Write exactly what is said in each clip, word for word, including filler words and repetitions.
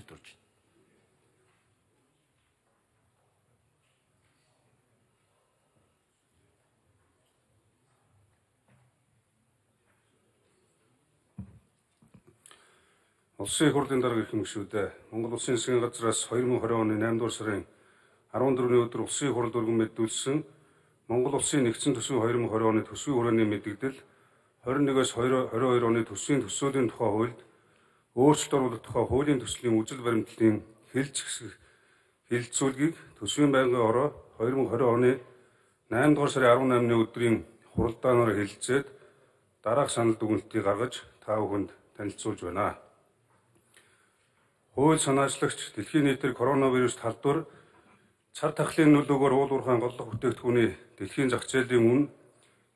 хүндэт орж байна. Улсын их хурлын дарга ирэх мөшүүдээ Монгол Улсын засгийн газраас хоёр мың и двадцать оны наймдугаар сарын арван дөрөвний өдөр Улсын их хурл өргөн мэдүүлсэн Монгол Улсын нэгдсэн төсвийн хоёр мың и двадцать оны төсвийн хүрээний мэдээлэл двадцать нэгээс двадцать хоёр оны төсвийн төсөөлийн тухай хуульд өөрчлөлт оруулах тухай хуулийн төслийн үжил баримтлалын хэлж хэсэг хэлэлцүүлгийг төсвийн байнгын ороо хоёр мың и двадцать оны наймдугаар сарын арван наймны өдрийн хуралдаанаар хэлэлцээд дараах санал дүгнэлтийг гаргаж та бүхэнд танилцуулж байна. Хууль санаачлагч дэлхийн нийтээр коронавирус талбар цар тахлын нөлөөгөөр уул уурхайн голлох бүтээгдэхүүний дэлхийн зах зээлийн үн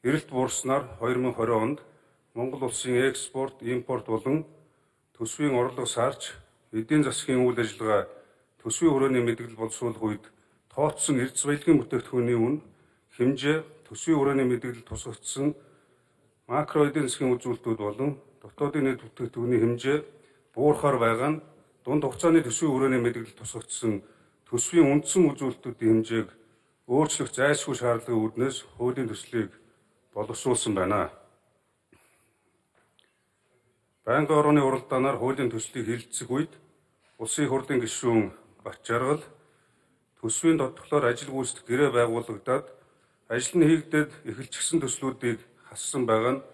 эрэлт буурснаар хоёр мың и двадцать онд Монгол улсын экспорт, импорт болон төсвийн орлого саарч эдийн засгийн үйл ажиллагаа төсвийн хүрээний мэдээлэл боловсруулах үед тооцсон эрдэс баялагын бүтээгдэхүүний үн хэмжээ төсвийн хүрээний мэдээлэл тусгагдсан макро эдийн засгийн үзүүлэлтүүд болон дотоодын нийт бүтээгдэхүүний хэмжээ буурахаар байгаа нь дунд хугацааны төсвийн хүрээний мэдээлэл тусгагдсан төсвийн үндсэн үзүүлэлтүүдийн хэмжээг өөрчлөх зайлшгүй шаардлагын үүднээс хуулийн төслийг боловсруулсан байна. Байнгын орооны уралдаанаар хуулийн төслийг хэлэлцэх үед Улсын их хурлын гишүүн Бат Жаргал төсвийн тодтоглоор ажил гүйцэтгэх гэрээ байгуулагдаад ажил нь хийгдээд эхэлчихсэн төслүүдийг хассан байгаа нь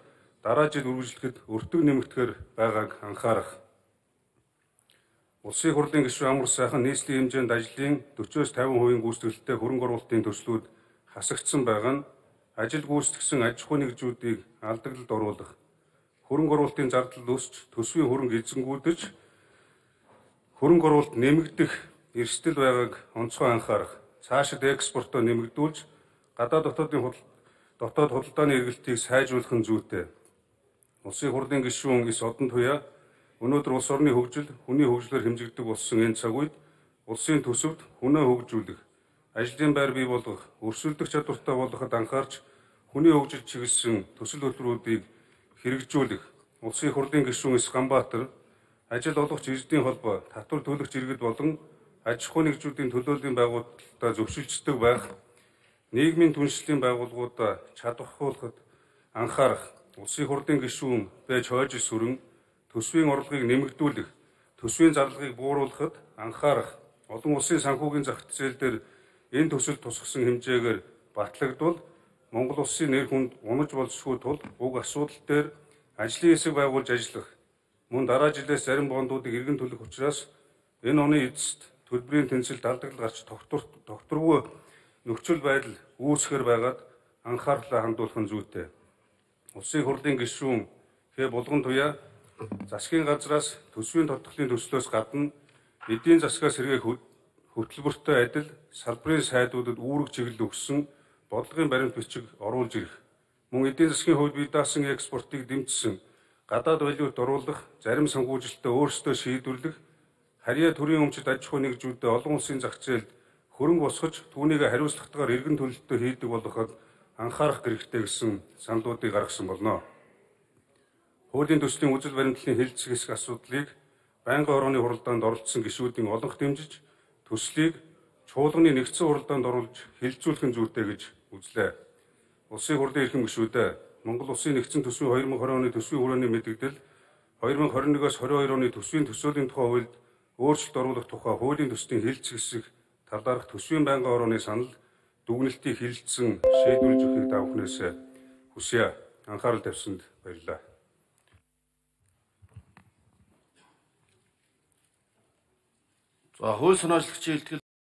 дараа жил үргэлжлэхэд өртөг нэмэгдэхээр байгааг анхаарах. Улсын их хурлын гишүүн Амар сайхан нийслэлийн хэмжээнд ажлын forty-с fifty хувийн гүйцэтгэлтэй хөрөнгө оруулалтын төслүүд хасагдсан байгаа нь ажил гүйцэтгсэн аж ахуй нэгжүүдийг алдагдлалд оруулах, хөрөнгө оруулалтын зардал өсч төсвийн хөрөнгө эзэнгүүдэж хөрөнгө оруулалт нэмэгдэх эрсдэл байгааг онцгой анхаарах, цаашид экспортоо нэмэгдүүлж гадаад дотоодын дотоод худалдааны эргэлтийг сайжруулах нь зүйтэй. Улсын их хурлын гишүүн Эс Одон Туяа өнөөдөр улс орны хөгжил, хүний хөгжлөөр хэмжигддэг болсон энэ цаг үед улсын төсөвт хүнээ хөгжүүлэх, ажлын байр бий болгох, өрсөлдөх чадвартай болгоход анхаарч хүний хөгжил чиглэсэн төсөл хөтөлбөрүүдийг хэрэгжүүлэх. Улсын их хурлын гишүүн Эс Ганбаатар ажил олгогч эрдийн холбоо, татвар төлөгч иргэд болон аж ахуй нэгжүүдийн төлөөллийн байгууллагуудаа зөвшөлдсдөг байх, нийгмийн түншлэлийн байгууллагуудаа чадвархуулахад анхаарах. Улсын их хурлын гишүүн Бэж Хойжис сүрэн төсвийн орлогыг нэмэгдүүлэх, төсвийн зарлагыг бууруулахад анхаарах, олон улсын санхүүгийн зах зээл дээр энэ төсөл тусгасан хэмжээгээр батлагдвал Монгол улсын нэр хүнд унаж болзошгүй тул уг асуудал дээр ажлын хэсэг байгуулж ажиллах, мөн дараа жилээс зарим бондуудыг эргэн төлөх учраас энэ оны эцэст төлбөрийн тэнцэлд алдагдал гарч тогтворгүй нөхцөл байдал үүсэхээр байгаад анхаарлаа хандуулах нь зүйтэй. Улсын их хурлын гишүүн Хэ Булган Туяа засгийн газраас төсвийн тодтолтын төслөөс гадна эдийн засгаас сэргээх хөтөлбөртэй адил салбарын сайдуудад үүрэг чиглэл өгсөн бодлогын баримт бичиг оруулж ирэх, мөн эдийн засгийн хувьд бие даасан экспортыг дэмжсэн, гадаад валют оруулах, зарим санхүүжилтээ өөрсдөө шийдвэрлэх, харьяа төрийн өмчит аж ахуй нэгжүүдэд олон улсын зах зээлд хөрөнгө босгож түүнийг хариуцлагатайгаар эргэн төлөлтөд хийдэг болгоход анхаарах хэрэгтэй гэсэн саналуудыг гаргасан болно. Хуулийн төслийн үжил баримтлалын хэлэлцэх хэсэг асуудлыг байнгын орооны хуралдаанд оролцсон гишүүдийн олонх дэмжиж төслийг чуулганы нэгдсэн хуралдаанд оруулж хэлэлцүүлэх нь зүйтэй гэж үзлээ. Улсын хурлын эрхэм гишүүдээ Монгол улсын нэгдсэн төсвийн хоёр мың и двадцать оны төсвийн хүрээний мэдээлэл хоёр мың и двадцать нэгээс двадцать хоёр оны төсвийн төсөөлийн тухай хуульд өөрчлөлт оруулах тухай хуулийн төслийн хэлэлцэх хэсэг талаарх төсвийн байнгын орооны санал дүгнэлтийг хэлэлцсэн шийдвэрлэж өгөхийг та бүхнээс хүсье. Анхаарал тавьсанд баярлалаа. За хууль санаачлагчийн илтгэл